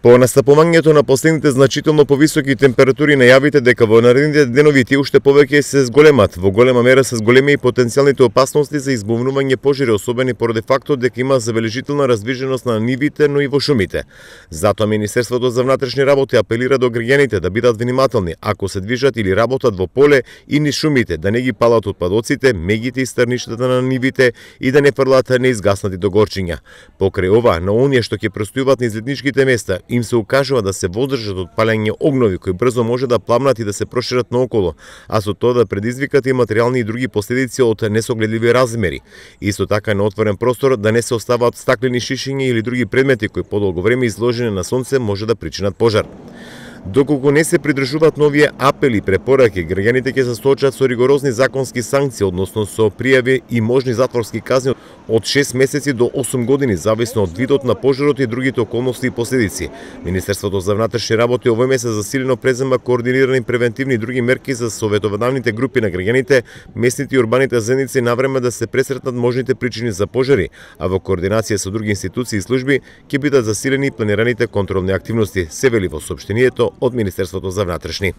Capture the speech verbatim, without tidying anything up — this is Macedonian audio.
По настапувањето на последните значително повисоки температури најавите дека во наредните денови тие уште повеќе се зголемат. Во голема мера се зголеми и потенцијалните опасности за избувнување пожари, особено поради фактот дека има забележителна раздвиженост на нивите, но и во шумите. Затоа Министерството за внатрешни работи апелира до граѓаните да бидат внимателни ако се движат или работат во поле и низ шумите, да не ги палат отпадоците, мегите и стрништата на нивите и да не фрлат неизгаснати догорчиња. Покрај ова, на оние што ќе престојуваат низ летничките места, им се укажува да се воздржат од палење огнови кои брзо може да пламнат и да се прошират наоколу, а со тоа да предизвикат и материјални и други последици од несогледливи размери. Исто така на отворен простор да не се оставаат стаклени шишиња или други предмети кои подолго време изложени на сонце може да причинат пожар. Доколку не се придржуваат новие апели и препораки, граѓаните ќе се соочат со ригорозни законски санкции, односно со пријави и можни затворски казни од шест месеци до осум години, зависно од видот на пожарот и другите околности и последици. Министерството за внатрешни работи овој месец засилено презема координирани превентивни и други мерки за советователните групи на граѓаните, местните и урбаните заедници навреме да се пресретнат можните причини за пожари, а во координација со други институции и служби ќе бидат засилени планираните контролни активности, се вели во соопштението од Министерството за внатрешни.